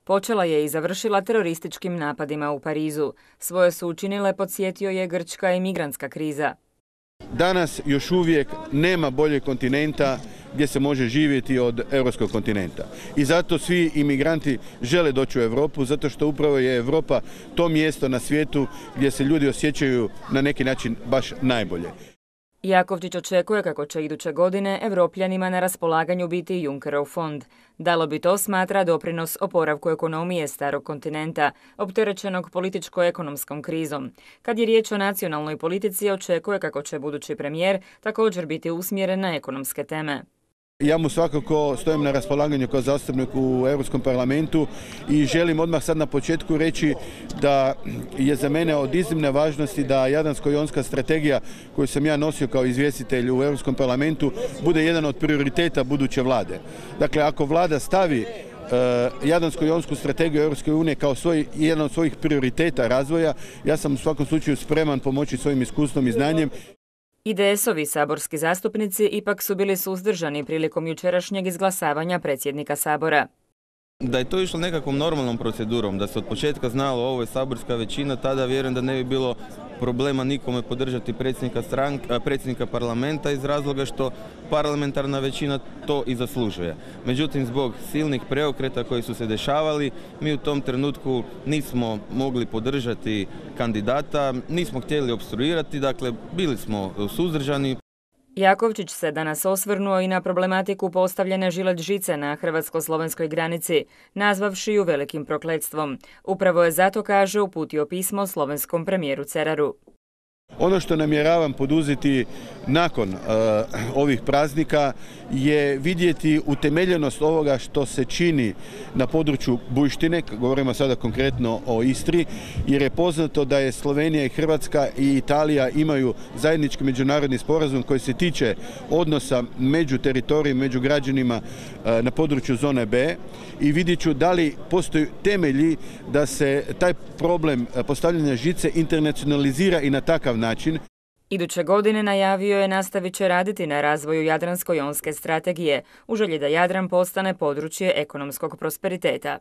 Počela je i završila terorističkim napadima u Parizu. Svoje su učinile, podsjetio je, grčka i migrantska kriza. Danas još uvijek nema boljeg kontinenta gdje se može živjeti od europskog kontinenta. I zato svi imigranti žele doći u Europu, zato što upravo je Europa to mjesto na svijetu gdje se ljudi osjećaju na neki način baš najbolje. Jakovčić očekuje kako će iduće godine Evropljanima na raspolaganju biti Junckerov fond. Dalo bi to, smatra, doprinos oporavku ekonomije starog kontinenta, opterećenog političko-ekonomskom krizom. Kad je riječ o nacionalnoj politici, očekuje kako će budući premijer također biti usmjeren na ekonomske teme. Ja mu svakako stojim na raspolaganju kao zastupnik u Europskom parlamentu i želim odmah sad na početku reći da je za mene od iznimne važnosti da Jadransko-jonska strategija koju sam ja nosio kao izvjestitelj u Europskom parlamentu bude jedan od prioriteta buduće vlade. Dakle, ako vlada stavi Jadransko-jonsku strategiju Europske unije kao jedan od svojih prioriteta razvoja, ja sam u svakom slučaju spreman pomoći svojim iskustvom i znanjem. IDS-ovi saborski zastupnici ipak su bili suzdržani prilikom jučerašnjeg izglasavanja predsjednika Sabora. Da je to išlo nekakvom normalnom procedurom, da se od početka znalo ovo je saborska većina, tada vjerujem da ne bi bilo problema nikome podržati predsjednika parlamenta iz razloga što parlamentarna većina to i zaslužuje. Međutim, zbog silnih preokreta koji su se dešavali, mi u tom trenutku nismo mogli podržati kandidata, nismo htjeli opstruirati, dakle bili smo suzdržani. Jakovčić se danas osvrnuo i na problematiku postavljene žilet žice na hrvatsko-slovenskoj granici, nazvavši ju velikim prokletstvom. Upravo je zato, kaže, uputio pismo slovenskom premijeru Ceraru. Ono što namjeravam poduzeti nakon ovih praznika je vidjeti utemeljenost ovoga što se čini na području Bujštine, govorimo sada konkretno o Istri, jer je poznato da je Slovenija i Hrvatska i Italija imaju zajednički međunarodni sporazum koji se tiče odnosa među teritorijima, među građanima na području zone B i vidjet ću da li postoji temelji da se taj problem postavljanja žice internacionalizira i na takav način. Iduće godine, najavio je, nastavit će raditi na razvoju Jadransko-jonske strategije u želji da Jadran postane područje ekonomskog prosperiteta.